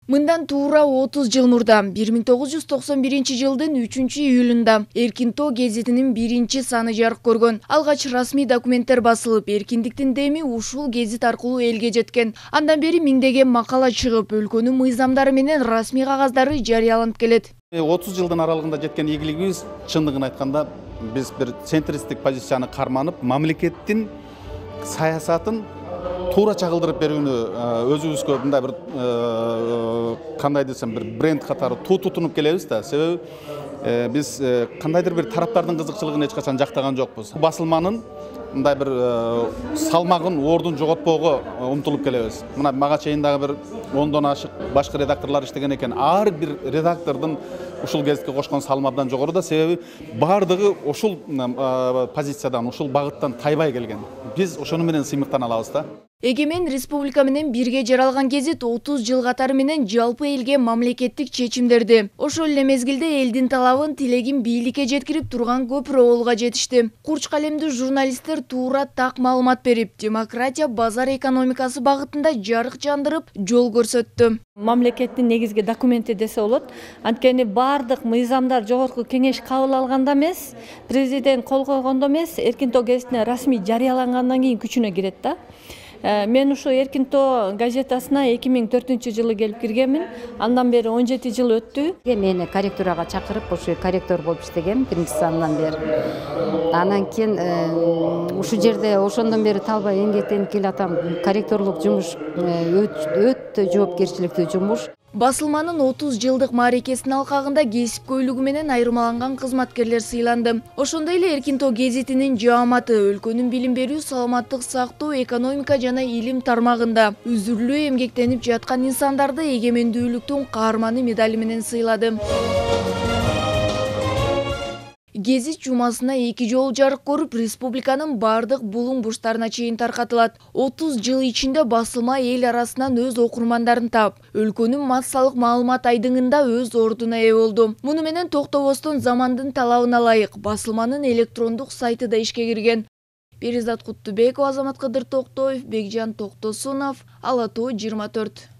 Мындан туура 30 жыл мурда 1991-жылдын 3-июлунда Эркин тоо гезитинин 1-саны жарык көргөн. Алгач расмий документтер басылып, эркиндиктин деми ушул гезит аркылуу элге жеткен. Андан бери миңдеген макала чыгып, өлкөнүн мыйзамдары менен расмий кагаздары жарыяланып келет. 30 жылдын аралыгында жеткен ийгилигибиз, чындыгын айтканда, биз бир центристик позицияны карманып, мамлекеттин саясатын туура чагылдырып берүүнү өзүбүзгө мындай бир кандай десем бир бренд катары тутунуп келебиз да. Себеби биз кандайдыр бир тараптардын кызыкчылыгын эч качан жактаган жокпуз. Басылманын мындай бир салмагын, ордун жоготпоого умтулуп келебиз. Мына мага чейин дагы бир 10дон ашык башкы редакторлор иштеген экен. Ар бир редактордун ушул гезитке кошкон салмы абдан жогору да, себеби бардыгы ушул позициядан, ушул багыттан тайбай келген. Биз ошону менен сыймыктана алабыз да. Эгемен республика менен бирге жаралган гезит 30 жыл катары менен жалпы элге мамлекеттик чечимдерди, ошол эле мезгилде элдин талабын, тилегин бийликке жеткирип турган көп роолго жетишти. Курч калемдүү журналисттер туура так маалымат берип, демократия, базар экономикасы багытында жарык жандырып, жол көрсөттү. Мамлекеттин негизги документи десе болот. Анткени бардык мыйзамдар жогорку кеңеш кабыл алганда эмес, президент кол койгондо эмес, Эркин тоо гезитине расмий жарыялангандан кийин күчүнө кирет да. Мен ушу Эркин тоо газетасына 2004-жылы келип киргенмин. Андан бери 17 жыл өттү. Мени корректурага чакырып, ушу корректор болуп иштегем 1-сандан бери. Анан кийин ушул жерде ошондон бери талбай эмгектенип келатам. Корректорлук жумуш өтө жоопкерчиликтүү жумуш. Басылманын 30 жылдык мааракесинин алкагында кесипкөйлүгү менен айырмаланган кызматкерлер сыйланды. Ошондой эле Эркин тоо гезитинин жааматы өлкөнүн билим берүү, саламаттык сактоо, экономика жана илим тармагында үзүрлүү эмгектенип жаткан инсандарды эгемендүүлүктүн каарманы медали менен сыйлады. Гезит жумасына 2 жолу жарык көрүп, республиканын бардык булуң бурчтарына чейин таркатылат. 30 жыл ичинде басылма эл арасынан өз окурмандарын таап, өлкөнүн массалык маалымат айдыңында өз ордуна ээ болду. Муну менен токтобостон замандын талабына ылайык басылманын электрондук сайты да ишке кирген. Перизат Куттубекова, Азамат Кадыр Токтоев, Бекжан Токтосунов, Ала тоо 24.